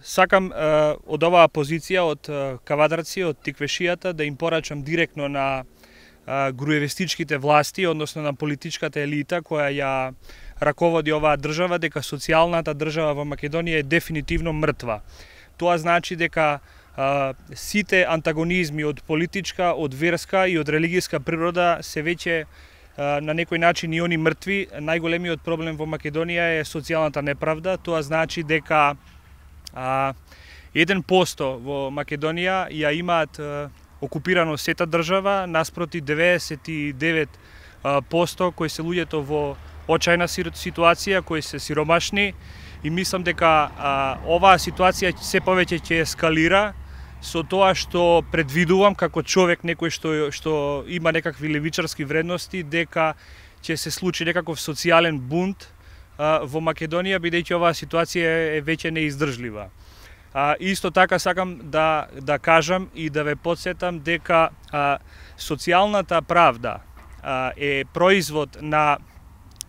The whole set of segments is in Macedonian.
Сакам од оваа позиција, од Кавадарци, од Тиквешијата, да им порачам директно на груевестичките власти, односно на политичката елита која ја раководи оваа држава, дека социјалната држава во Македонија е дефинитивно мртва. Тоа значи дека сите антагонизми од политичка, од верска и од религијска природа се веќе на некој начин и они мртви. Најголемиот проблем во Македонија е социјалната неправда. Тоа значи дека 1% во Македонија ја имаат окупирано сета држава, наспроти 99% кои се луѓето во очајна ситуација, кои се сиромашни, и мислам дека оваа ситуација се повеќе ќе ескалира со тоа што предвидувам како човек, некој што има некакви левичарски вредности, дека ќе се случи некаков социјален бунт во Македонија, бидејќи оваа ситуација е веќе неиздржлива. Исто така сакам да кажам и да ве потсетам дека социјалната правда е производ на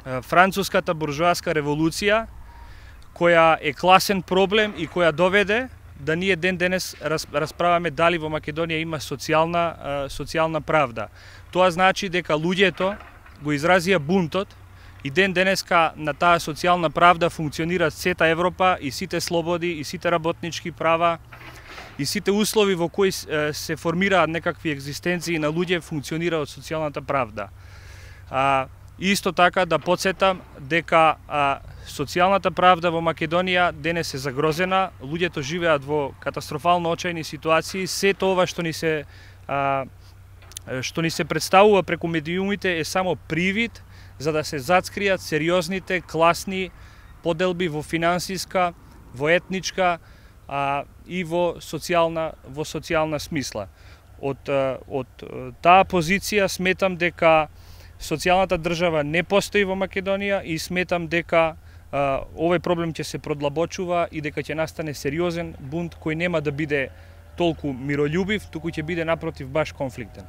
француската буржоаска револуција, која е класен проблем и која доведе да ние ден денес расправаме дали во Македонија има социјална правда. Тоа значи дека луѓето го изразија бунтот и ден денеска на таа социјална правда функционира сета Европа и сите слободи и сите работнички права и сите услови во кои се формираат некакви екзистенции на луѓе функционира од социјалната правда. Исто така да потсетам дека социјалната правда во Македонија денес е загрозена, луѓето живеат во катастрофално очајни ситуации, сето ова што ни се представува преку медиумите е само привид за да се зацкријат сериозните класни поделби во финансиска, во етничка и во социјална смисла. Од таа позиција сметам дека социјалната држава не постои во Македонија и сметам дека овој проблем ќе се продлабочува и дека ќе настане сериозен бунт кој нема да биде толку мирољубив, туку ќе биде напротив баш конфликтен.